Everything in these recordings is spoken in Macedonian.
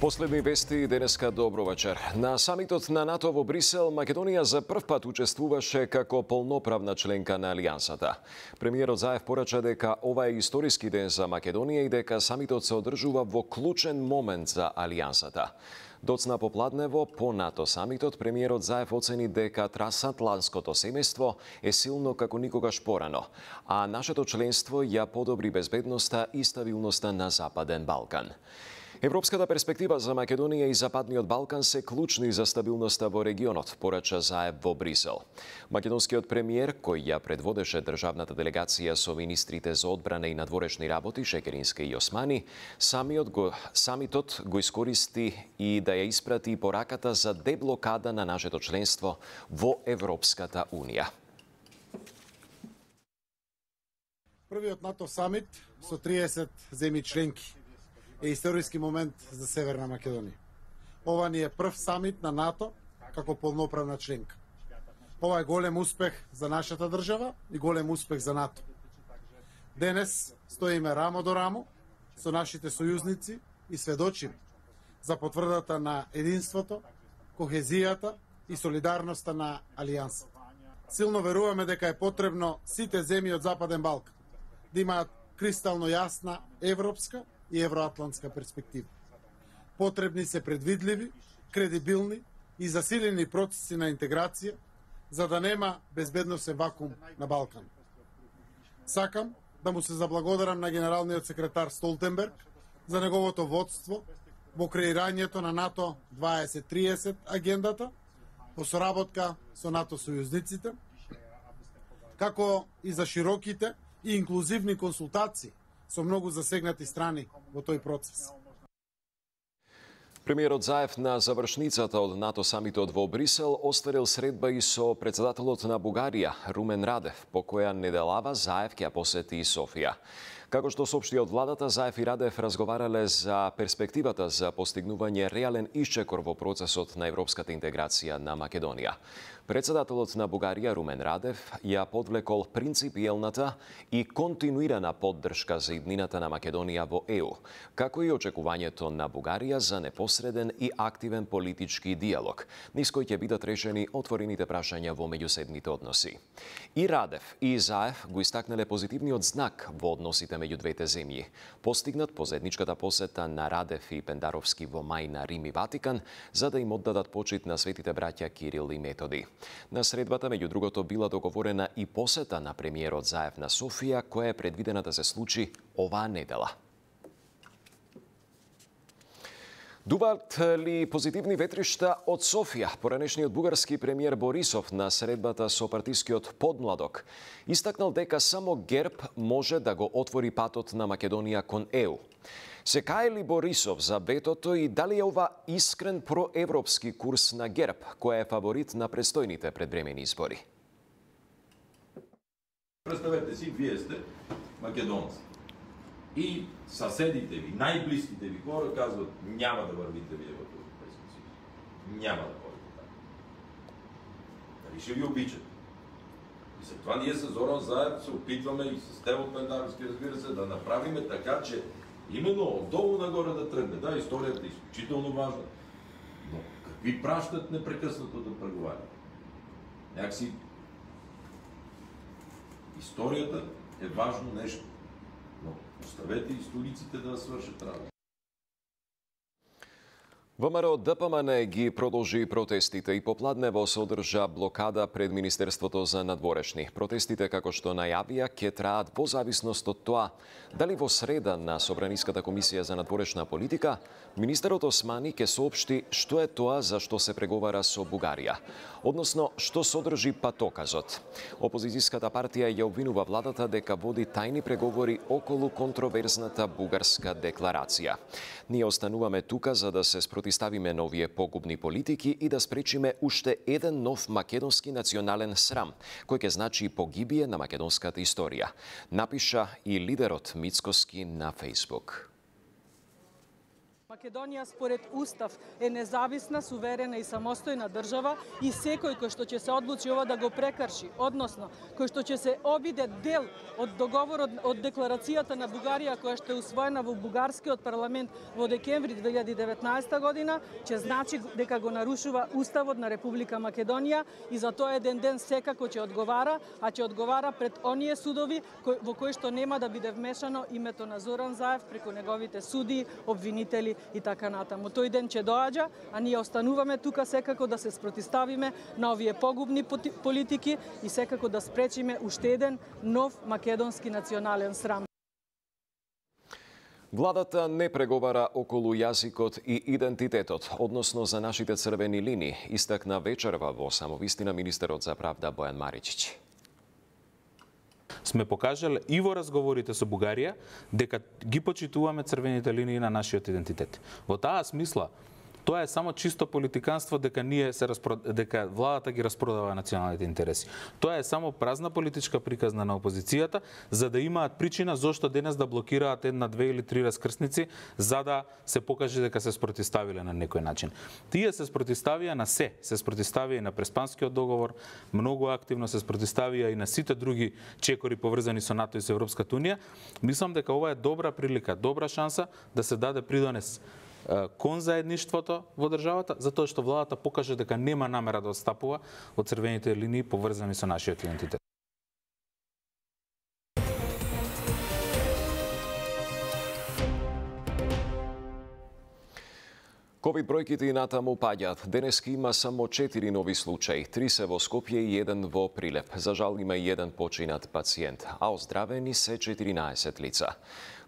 Последни вести денеска добро вечер. На самитот на НАТО во Брисел, Македонија за прв пат учествуваше како полноправна членка на Алијансата. Премиерот Заев порача дека ова е историски ден за Македонија и дека самитот се одржува во клучен момент за Алијансата. Доцна попладнево по НАТО самитот, премиерот Заев оцени дека трансатлантското семејство е силно како никогаш порано, а нашето членство ја подобри безбедноста и стабилноста на Западен Балкан. Европската перспектива за Македонија и Западниот Балкан се клучни за стабилноста во регионот, порача Заев во Брисел. Македонскиот премиер, кој ја предводеше државната делегација со министрите за одбрана и надворешни работи Шекерински и Османи, самитот го искористи и да ја испрати пораката за деблокада на нашето членство во Европската Унија. Првиот НАТО самит со 30 земји членки е историски момент за Северна Македонија. Ова ни е прв самит на НАТО како полноправна членка. Ова е голем успех за нашата држава и голем успех за НАТО. Денес стоиме рамо до рамо со нашите сојузници и сведочиме за потврдата на единството, кохезијата и солидарноста на Алијансата. Силно веруваме дека е потребно сите земји од Западен Балкан да имаат кристално јасна европска и евроатлантска перспектива. Потребни се предвидливи, кредибилни и засилени процеси на интеграција, за да нема безбедносен вакуум на Балкан. Сакам да му се заблагодарам на генералниот секретар Столтенберг за неговото водство во креирањето на НАТО 2030 агендата, по соработка со НАТО сојузниците, како и за широките и инклузивни консултации со многу засегнати страни во тој процес. Премиерот Заев на завршницата од НАТО самитот во Брисел остварил средба и со председателот на Бугарија, Румен Радев, по која неделава Заев ќе посети Софија. Како што соопшти од владата, Заев и Радев разговарале за перспективата за постигнување реален исчекор во процесот на европската интеграција на Македонија. Председателот на Бугарија, Румен Радев, ја подвлекол принципиелната и континуирана поддршка за иднината на Македонија во ЕУ, како и очекувањето на Бугарија за непосреден и активен политички диалог, низ кој ќе бидат решени отворените прашања во меѓусебните односи. И Радев и Заев го истакнале позитивниот знак во односите меѓу двете земји, постигнат по заедничката посета на Радев и Пендаровски во мај на Рим и Ватикан, за да им оддадат почит на светите браќа Кирил и Методи. На средбата, меѓу другото, била договорена и посета на премиерот Заев на Софија, која е предвидена да се случи оваа недела. Дуваат ли позитивни ветришта од Софија? Поранешниот бугарски премиер Борисов на средбата со партискиот подмладок истакнал дека само ГЕРБ може да го отвори патот на Македонија кон ЕУ. Се кае ли Борисов за ветото и дали е ова искрен проевропски курс на ГЕРБ, која е фаворит на престојните предвремени избори? Представете си, вие сте македонци. И съседите ви, најблиските ви хора казват, няма да вървите вие в Европейския съюз. Няма да ходите така. Дали ще ви обичат? И след това ние с Зоран Заев се опитваме и с Тево Пендаровски, разбира се, да направим така, че именно отдолу нагоре да тръгне. Да, историята е изключително важна. Но какви пращат непрекъснато да преговарят? Някакси историята е важно нещо. Но оставете историците да свършат работа. ВМРО ДПМН ги продолжи протестите и попладнево се одржа блокада пред Министерството за надворешни. Протестите, како што најавија, ќе траат во зависност од тоа дали во среда на Собраниската комисија за надворешна политика министерот Османи ќе соопшти што е тоа за што се преговара со Бугарија, односно што содржи патоказот. Опозицијската партија ја обвинува владата дека води тајни преговори околу контроверзната бугарска декларација. Ние остануваме тука за да се спротиставиме на овие погубни политики и да спречиме уште еден нов македонски национален срам, кој ќе значи погибие на македонската историја, напиша и лидерот Мицкоски на Фејсбук. Македонија според Устав е независна, суверена и самостојна држава и секој кој што ќе се одлучи ова да го прекрши, односно кој што ќе се обиде дел од договорот од декларацијата на Бугарија која што е усвоена во бугарскиот парламент во декември 2019 година, ќе значи дека го нарушува Уставот на Република Македонија и за тоа еден ден секако ќе одговара, а ќе одговара пред оние судови во кои што нема да биде вмешано името на Зоран Заев преку неговите суди, обвинители и така натаму. Тој ден ќе доаѓа, а ние остануваме тука секако да се спротиставиме на овие погубни политики и секако да спречиме уште еден нов македонски национален срам. Владата не преговара околу јазикот и идентитетот, односно за нашите црвени линии, истакна вечерва во самовистина министерот за правда Бојан Маричич. Сме покажале и во разговорите со Бугарија дека ги почитуваме црвените линии на нашиот идентитет. Во таа смисла, тоа е само чисто политиканство дека дека владата ги распродава националните интереси. Тоа е само празна политичка приказна на опозицијата за да имаат причина зошто денес да блокираат една, две или три раскрсници за да се покаже дека се спротиставиле на некој начин. Тие се спротиставија на се спротиставија и на Преспанскиот договор, многу активно се спротиставија и на сите други чекори поврзани со НАТО и со Европската унија. Мислам дека ова е добра прилика, добра шанса да се даде придонес кон заедништвото во државата, затоа што владата покаже дека нема намера да отстапува од црвените линии поврзани со нашиот идентитет. Ковид бројките и натаму паѓаат. Денески има само 4 нови случаи. 3 се во Скопје и 1 во Прилеп. За жал има и 1 починат пациент, а оздравени се 14 лица.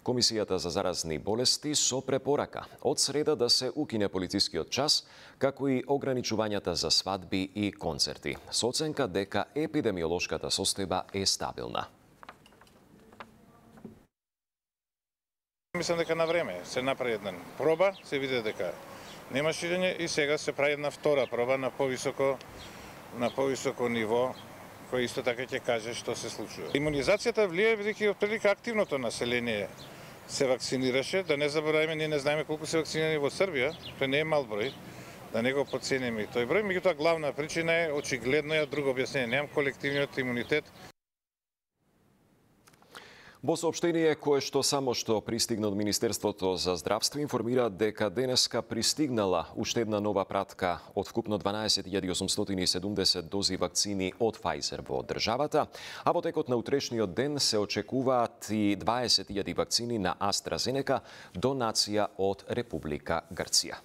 Комисијата за заразни болести со препорака од среда да се укине полицискиот час, како и ограничувањата за свадби и концерти, со оценка дека епидемиолошката состојба е стабилна. Мислам дека на време се направи една проба, се види дека нема ширење и сега се прави една втора проба на повисоко ниво, кој исто така ќе каже што се случува. Имунизацијата влие бидејќи отприлика активното население се вакцинираше, да не забораваме, ние не знаеме колку се вакцинирани во Србија, тој не е мал број, да не го потцениме и тој број, меѓутоа главна причина е очигледно ја друго објаснение, немам колективниот имунитет. Во соопштение кое што само што пристигна од Министерството за здравство информира дека денеска пристигнала уште една нова пратка од вкупно 12.870 дози вакцини од Pfizer во државата, а во текот на утрешниот ден се очекуваат и 20.000 вакцини на AstraZeneca, донација од Република Грција.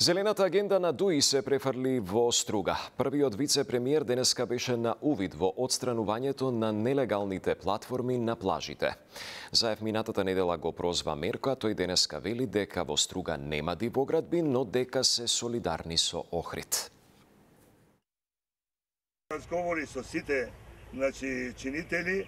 Зелената агенда на ДУИ се префрли во струга. Првиот вице-премиер денеска беше на увид во отстранувањето на нелегалните платформи на плажите. Заев минатата недела го прозва мерка, тој денеска вели дека во струга нема дивоградби, но дека се солидарни со Охрид. Разговори со сите чинители,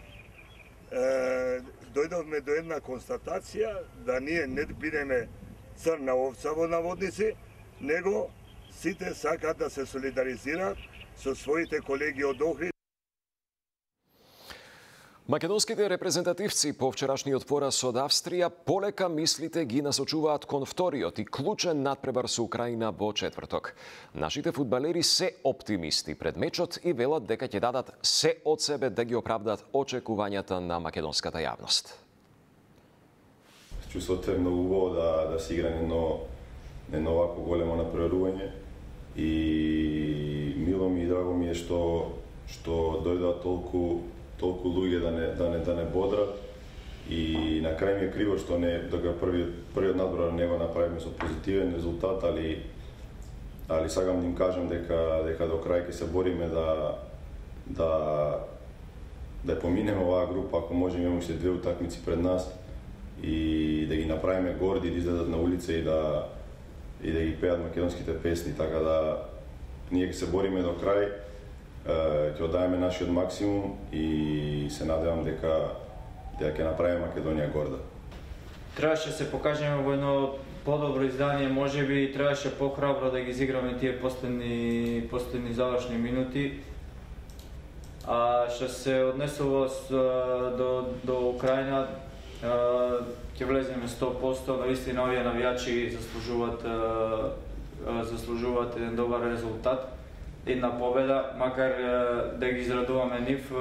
дојдовме до една констатација да ние не бидеме црна овца во наводници, него сите сакаат да се солидаризираат со своите колеги од Охрид. Македонските репрезентативци по вчерашниот пораз од Австрија полека мислите ги насочуваат кон вториот и клучен надпревар со Украина во четврток. Нашите фудбалери се оптимисти пред мечот и велат дека ќе дадат се од себе да ги оправдат очекувањата на македонската јавност. Чувството е многу убаво да се игра едно овако големо напреварување и мило ми и драго ми е што дојдоа толку луѓе да не бодрат и на крај ми е криво што дека првиот надпревар не го направиме со позитивен резултат, али сакам да им кажам дека до крај ќе се бориме да поминеме оваа група, ако може имаме уште 2 утакмици пред нас и да ги направиме горди, да излезат на улица и да ги пеат македонските песни, така да ние ќе се бориме до крај, ќе оддаеме нашиот максимум и се надевам дека ќе направиме Македонија горда. Требаше се покажеме во едно подобро издание, можеби требаше похрабро да ги изиграме тие последни завршни минути. А што се однесува до Украина, ќе влеземе 100%, наистина овие навијачи заслужуваат еден добар резултат, една победа, макар да ги израдуваме нив.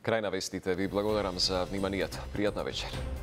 Крај на вестите, ви благодарам за вниманието. Пријатна вечер.